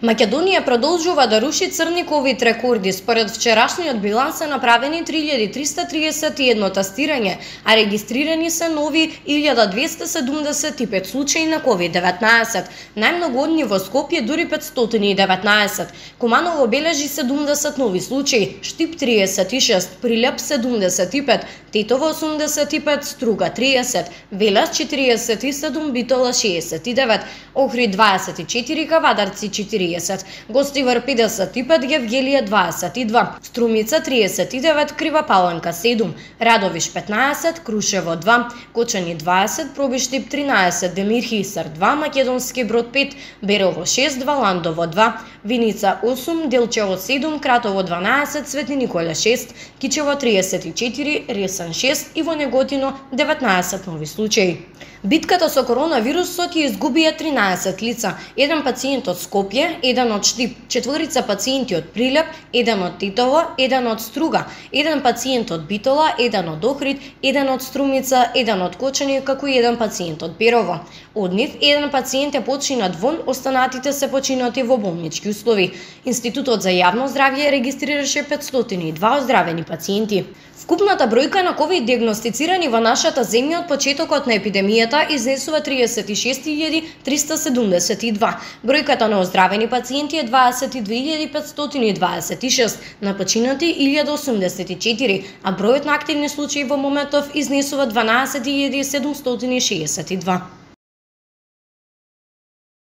Македонија продолжува да руши црни ковид рекорди. Според вчерашниот биланс се направени 3331 тестирање, а регистрирани се нови 1275 случаи на COVID-19. Најмногу од нив во Скопје дури 519. Куманово бележи 70 нови случаи, Штип 36, Прилеп 75, Тетово 85, Струга 30, Велес 47, Битола 69, Охрид 24, Кавадарци 40, Гостивар 55, Гевгелија 22, Струмица 39, Крива Паланка 7, Радовиш 15, Крушево 2, Кочани 20, Пробиштип 13, Демир Хисар 2, Македонски Брод 5, Берово 6, Валандово 2, Виница 8, Делчево 7, Кратово 12, Свети Никола 6, Кичево 34, Ресен 6 и во Неготино 19 нови случаи. Битката со коронавирусот ја изгубија 13 лица, еден пациент од Скопје, еден од Штип, 4 пациенти од Прилеп, еден од Титово, еден од Струга, еден пациент од Битола, еден од Охрид, еден од Струмица, еден од Кочани, како и еден пациент од Берово. Од нив, еден пациент е починат вон, останатите се починати во болнички услови. Институтот за јавно здравје регистрираше 502 оздравени пациенти. Вкупната бројка на ковид диагностицирани во нашата земја од почетокот на епидемијата изнесува 36.372. Бројката на оздравени пациенти е 22.526, на починати 1084, а бројот на активни случаи во моментов изнесува 12.762.